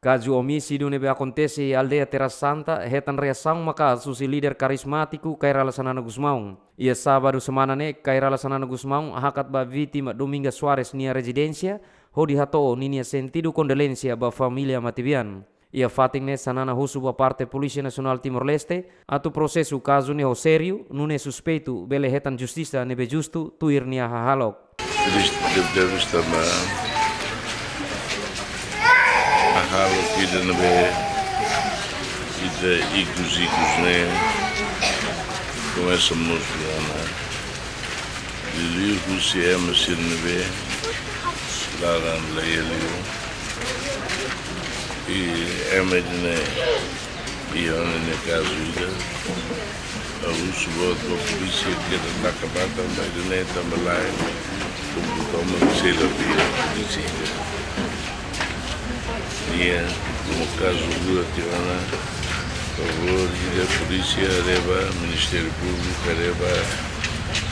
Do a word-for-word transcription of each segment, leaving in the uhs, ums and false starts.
Kazu omisídiu ne'ebé akontese iha aldeia Terra Santa hetan reasaun maka'as husi líder karizmátiku Kay Rala Xanana Gusmão. Iha sábadu semana ne'e, Kay Rala Xanana Gusmão hakat ba vítima Dominga Soares nia rezidénsia, hodi hato'o ninia sentidu kondolénsia ba família matebian. Iha fatin ne'e Xanana husu ba parte Polísia Nasionál Timor-Leste atu prosesu kazu ne'e ho sériu, nune'e suspeitu bele hetan justisa ne'ebé justu tuir nia hahalok. Triste, deve, deve estar na hahalok ida ne'ebé ita ikus-ikus ne'e komesa mosu ona. Liuliu husi ema sira ne'ebé laran la iha liu. I ema ida-ne'e iha ona nia kazu ida. Ha'u husu boot ba polísia keta taka matan ba ida-ne'e tanba lae, tanba toma sela via polísia. Nia, komu kazu rua tiha ona, favór ida polísia haree ba, Ministériu Públiku haree ba,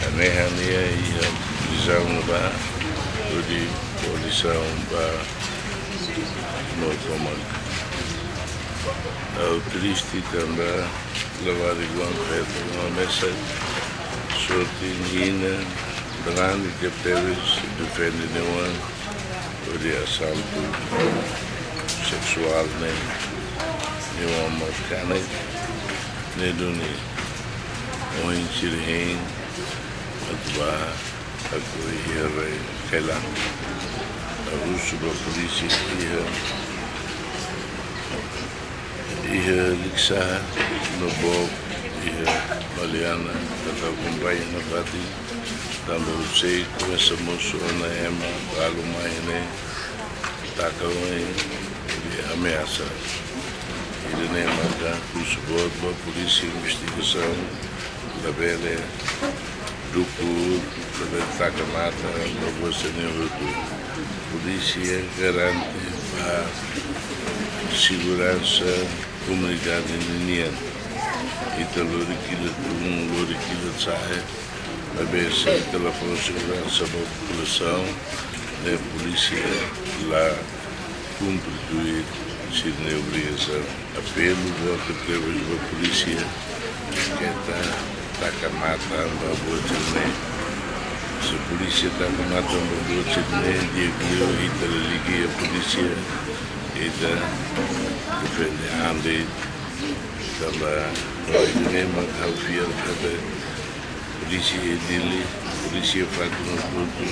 hanehan nia iha prizaun ne'ebá, hodi kolizaun ba no tomak. Ha'u triste tanba labarik oan feto no mesa sorte nia inan, belani tebtebes, defende nia oan hodi asaltu seksuál ne'e, nia oan mós kanek, ne'e duni ohin sira hein atu bá, atu iha rai Thailand. Ha'u husu ba polísia iha, iha Likisá no Book, iha Maliana, atu akompaña nafatin, tanba husik komesa mosu ona ema balu mai ne'e taka oin hodi ameasa. Ida-ne'e maka husu boot ba polísia investigasaun, labele dukur, labele taka matan ba buat sira-ne'e hotu. Polísia garante ba seguransa komunidade ninian. Ita lori kila tun, lori kila sa'e, maibé se ita la fó seguransa ba populasaun, ne'e polísia la kumpre tuir sira-nia obrigasaun. Apelu boot tebes ba polísia keta taka matan ba buat sira-ne'e. Se polísia taka matan ba buat sira-ne'e, di'ak liu ita lalika iha polísia, ita defende an de'it, tanba no ita-nia mak ha'u fiar katak polísia iha Dili, polísia iha fatin hotu-hotu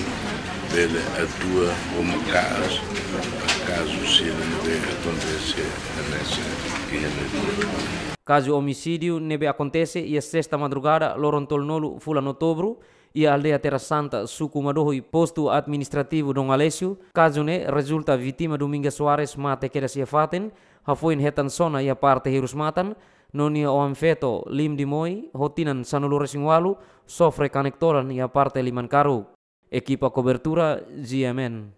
bele atua ho maka'as ba kazu sira ne'ebé akontese hanesan iha ne'e. Kazu omisídiu ne'ebé akontese iha sesta madrugada, loron tolunulu fulan Outubru, iha aldeia Terra Santa, suku Madohi, postu administrativu Dom Aleixo. Kazu ne'e rezulta vítima Dominga Soares mate kedas iha fatin, hafoin hetan sona iha parte hirus-matan, no nia oan feto, Lim Dimoi, ho tinan sanulu-resin-ualu, sofre kanek todan iha parte liman karuk. Ekipa kobertura, G M N.